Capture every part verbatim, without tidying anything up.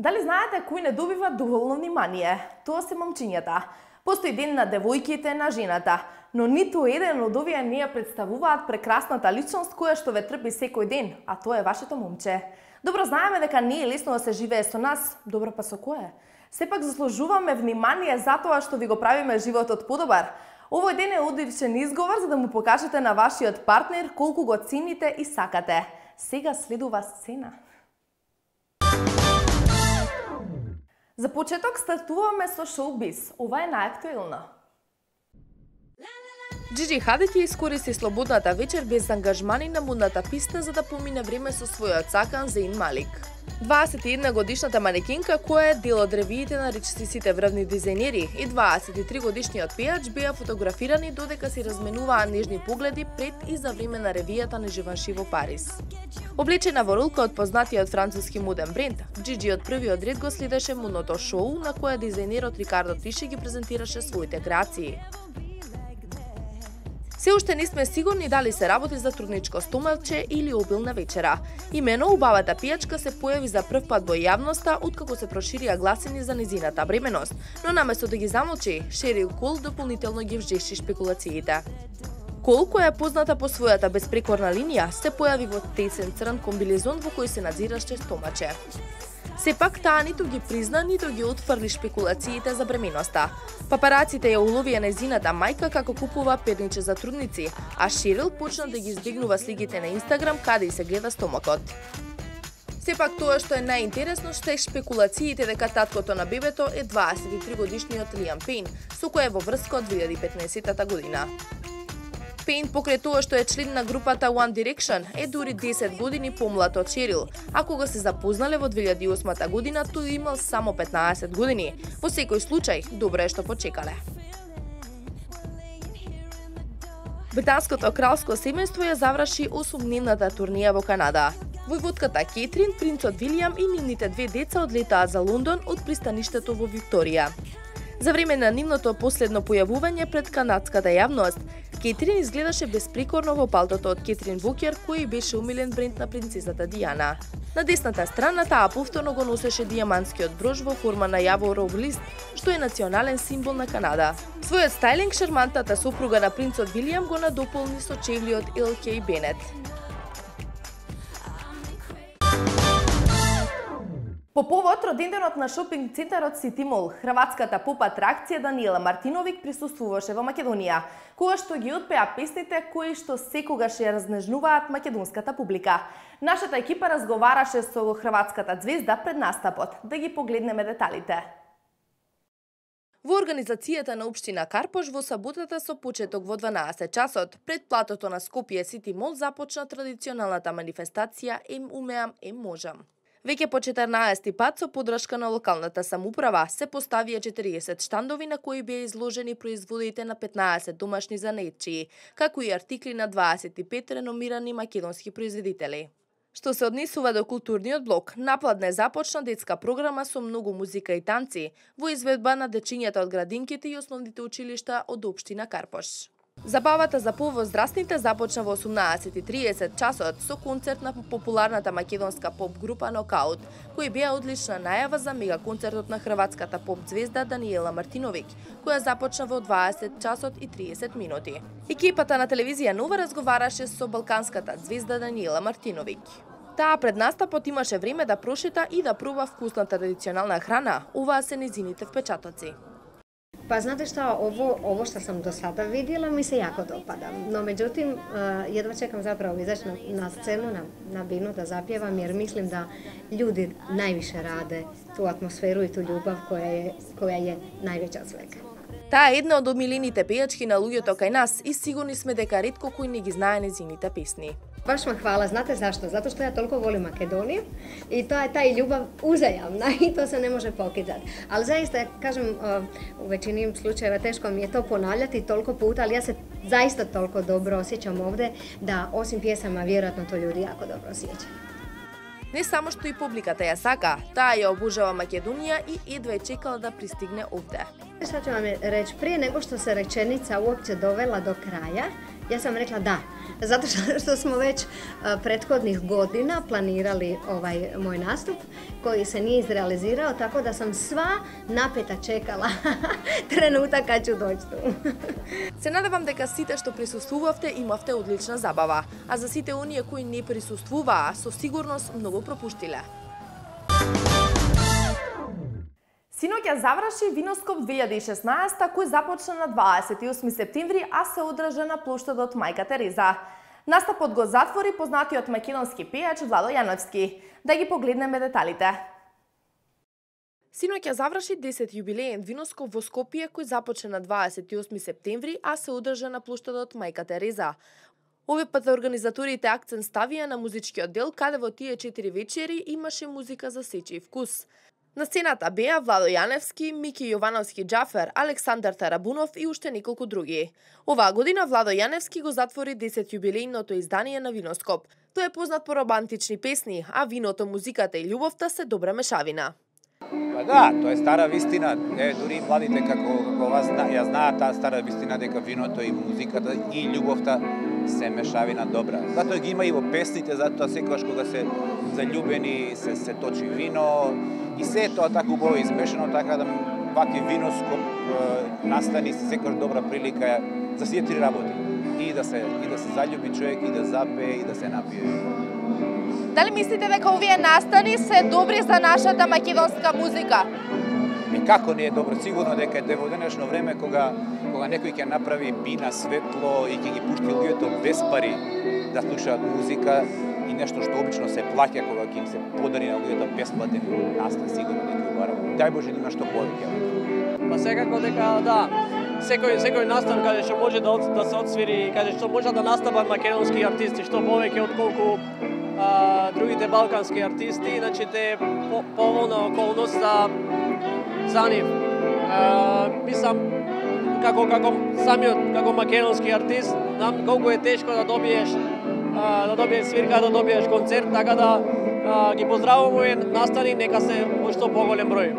Дали знаете кој не добива доволно внимание? Тоа се момчињата. Постои ден на девојките, на жената, но ниту еден од овие не ја представуваат прекрасната личност која што ве трпи секој ден, а тоа е вашето момче. Добро знаеме дека не е лесно да се живее со нас, добро па со кое? Сепак заслужуваме внимание за тоа што ви го правиме животот подобар. Овој ден е одличен изговор за да му покажете на вашиот партнер колку го цените и сакате. Сега следува сцена. За почеток стартуваме со шоу-биз. Ова е најактуелно. Джиджи Хадид ја искористи слободната вечер без ангажмани на модната писта за да помине време со својот сакан Зейн Малик. дваесет и една годишната манекенка која е дел од ревиите на речисите врвни дизајнери и дваесет и три годишниот пејач беа фотографирани додека си разменуваа нежни погледи пред и за време на ревијата на Живанши во Париз. Облечена во ролка од познатиот француски моден бренд, Джиджи од првиот ред го следеше модното шоу на кое дизајнерот Рикардо Тиши ги презентираше своите креации. Се уште не сме сигурни дали се работи за трудничко стомалче или обилна вечера. Имено убавата пијачка се појави за прв пат во јавноста откако се проширија гласини за незината бременост, но наместо да ги замолчи, Шерил Кол дополнително ги вжеши шпекулациите. Кол, која е позната по својата безпрекорна линија, се појави во тесен црн комбилезон во кој се надзираше стомаче. Сепак таа ниту ги призна, ниту ги отфрли шпекулациите за бременоста. Папараците ја уловија незината мајка како купува перниче за трудници, а Шерил почна да ги издигнува сликите на Инстаграм каде и се гледа стомакот. Сепак тоа што е најинтересно што е шпекулациите дека таткото на бебето е дваесет и три годишниот Лиам Пейн, со кој е во врска од две илјади и петнаесетта година. Пейн покрај тоа што е член на групата One Direction е дури десет години помлад од Шерил, а кога се запознале во две илјади и осма година тој имал само петнаесет години. Во секој случај, добро е што почекале. Британското кралско семејство ја заврши осумдневната турнија во Канада. Војводката Кетрин, принцот Вилијам и нивните две деца одлетаа за Лондон од пристаништето во Викторија. За време на нивното последно појавување пред канадската јавност, Кетрин изгледаше безпрекорно во палтото од Кетрин Вокер, кој беше умилен бренд на принцесата Дијана. На десната страна таа повторно го носеше дијамантскиот брош во форма на јаворов лист, што е национален символ на Канада. Својот стајлинг шармантната сопруга на принцот Вилијам го надополни со чевли од Ел Кей Бенет. По повод роденденот на шопинг центарот Сити Мол, хрватската поп атракција Даниела Мартиновик присуствуваше во Македонија, кога што ги отпеа песните кои што секогаш ја разнежнуваат македонската публика. Нашата екипа разговараше со хрватската звезда пред настапот. Да ги погледнеме деталите. Во организацијата на општина Карпош во саботата со почеток во дванаесет часот, пред платото на Скопје Сити Мол започна традиционалната манифестација Ем умеам, ем можам. Веќе по четрнаесети пат со поддршка на локалната самоуправа се поставија четириесет штандови на кои беа изложени производите на петнаесет домашни занаетчии, како и артикли на дваесет и пет реномирани македонски производители. Што се однесува до културниот блок, напладне започна детска програма со многу музика и танци во изведба на дечињата од градинките и основните училишта од општина Карпош. Забавата за повозрастните започна во осумнаесет и триесет часот со концерт на популарната македонска поп група Нокаут, кој беа одлична најава за мега концертот на хрватската поп звезда Даниела Мартиновик, која започна во дваесет часот и триесет минути. Екипата на телевизија Нова разговараше со балканската звезда Даниела Мартиновик. Таа пред настапот имаше време да прошета и да проба вкусна традиционална храна, оваа се незините впечатоци. Па знаете што, ово, ово што сам до сада видела ми се јако допада. Но меѓутим, едва чекам заправо изаќ на, на сцену, на, на бину да запјевам, jer мислим да луѓе највише раде ту атмосферу и ту љубав која е, која е највеќа од свека. Таа е една од омилените пејачки на луѓето кај нас и сигурни сме дека ретко кој не ги знае незините песни. Баш ме хвала, знате зашто? Затоа што ја толку волим Македонија и тоа е тај љубав узајамна и тоа се не може покидат. Ал заиста, кажем, у веćini случаева тешко ми е то понављати толку пута, ali ја се заиста толку добро осеќам овде да осим пјесама веројатно тоа луѓе јако добро осеќаат. Не само што и публиката ја сака, таа ја обожава Македонија и едва е чекала да пристигне овде. Што ќе вам речи, прije nego što se rečenica uopće dovela do kraja, ja sam rekla da, Zato što, što smo već prethodnih godina planirali ovaj moj nastup koji se nije izrealizirao, tako da sam sva napeta čekala trenutak kad ću doći tu. Се надевам дека сите што присуствувавте имавте одлична забава, а за сите оние кои не присуствуваа, со сигурност многу пропуштиле. Синоќа заврши Виноскоп две илјади и шеснаесетта, кој започна на дваесет и осми септември, а се одржа на плоштадот Мајка Тереза. Настапот го затвори познатиот македонски пејач Владо Јаневски. Да ги погледнеме деталите. Синоќа заврши десети јубилеен Виноскоп во Скопје, кој започна на дваесет и осми септември, а се одржа на плоштадот Мајка Тереза. Овој пат организаторите акцент ставија на музичкиот дел, каде во тие четири вечери имаше музика за сечи вкус. На сцената беа Владо Јаневски, Мики Јовановски Џафер, Александар Тарабунов и уште неколку други. Оваа година Владо Јаневски го затвори десет јубилејното издание на Виноскоп. Тој е познат по романтични песни, а виното, музиката и љубовта се добра мешавина. Па да, тоа е стара вистина. Е, дури младите како како вас ја знаат таа стара вистина дека виното и музиката и љубовта се мешавина добра. Затоа ги има и во песните, затоа секогаш кога се заљубени се се точи вино и се е тоа така убаво измешано, така да вакви Виноскоп настани секогаш добра прилика за сите три работи. И да се и да се заљуби човек, и да запее, и да се напие. Дали мислите дека овие настани се добри за нашата македонска музика? И како не е добро, сигурно дека е во денешно време кога кога некој ќе направи бина светло и ќе ги пушти луѓето без пари да слушаат музика и нешто што обично се плаќа кога ќе им се подари на луѓето бесплатен настан, сигурно дека убараво. Дај Боже има што повеќе. Па секако дека да, секој секој настан каде што може да да се отсвири, каде што може да настапат македонски артисти, што повеќе отколку а, другите балкански артисти, значи те по, поволна околност за за нив. А, мислам како како самиот како македонски артист, знам колку е тешко да добиеш а, да добиеш свирка, да добиеш концерт, така да а, ги поздравувам овие настани, нека се во што поголем број.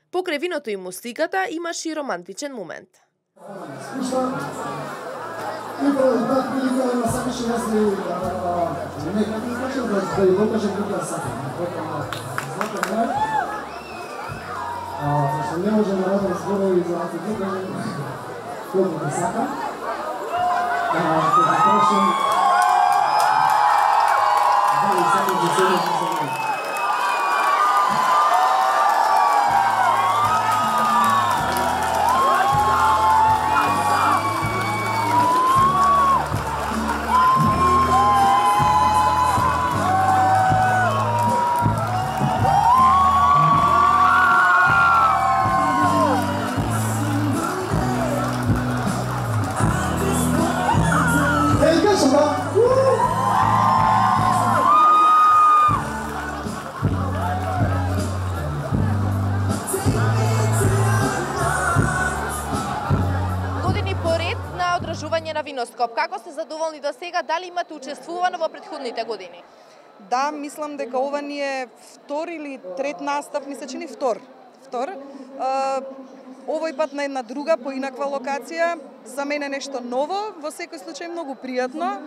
Покрај виното и музиката имаше и романтичен момент. Зашто не може да радам зборови за антитека, колку да сакам. Кога прашам, дали сакам да се за мене. На Виноскоп. Како сте задоволни до сега? Дали имате учествувано во претходните години? Да, мислам дека ова ни е втор или трет настап, ми се чини втор. Втор. А, овој пат на една друга, поинаква локација. За мене нешто ново, во секој случај многу пријатно.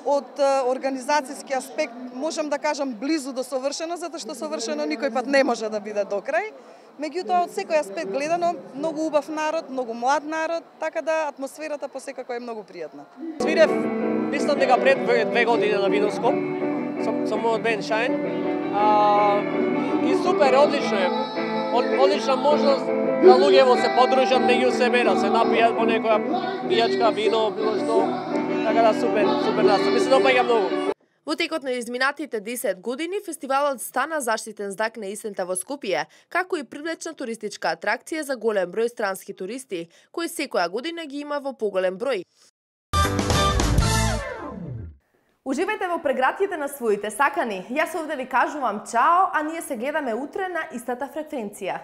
Од организацијски аспект можам да кажам близу до совршено, затоа што совршено никој пат не може да биде до крај. Меѓутоа, од секој аспект гледано, многу убав народ, многу млад народ, така да атмосферата посекако е многу пријатна. Свирев, мислам дека пред две години на Виноскоп, со, со мојот бенд Shine. А, и супер, одлично е. Одлична можност да луѓето се подружат меѓу себе, да се напијат по некоја пијачка, вино, било што. Така да супер, супер настап. Ми се допаѓа многу. Во текот на изминатите десет години, фестивалот стана заштитен знак на есента во Скопје, како и привлечна туристичка атракција за голем број странски туристи, кои секоја година ги има во поголем број. Уживајте во прегратите на своите сакани. Јас овде ви кажувам чао, а ние се гледаме утре на истата фреквенција.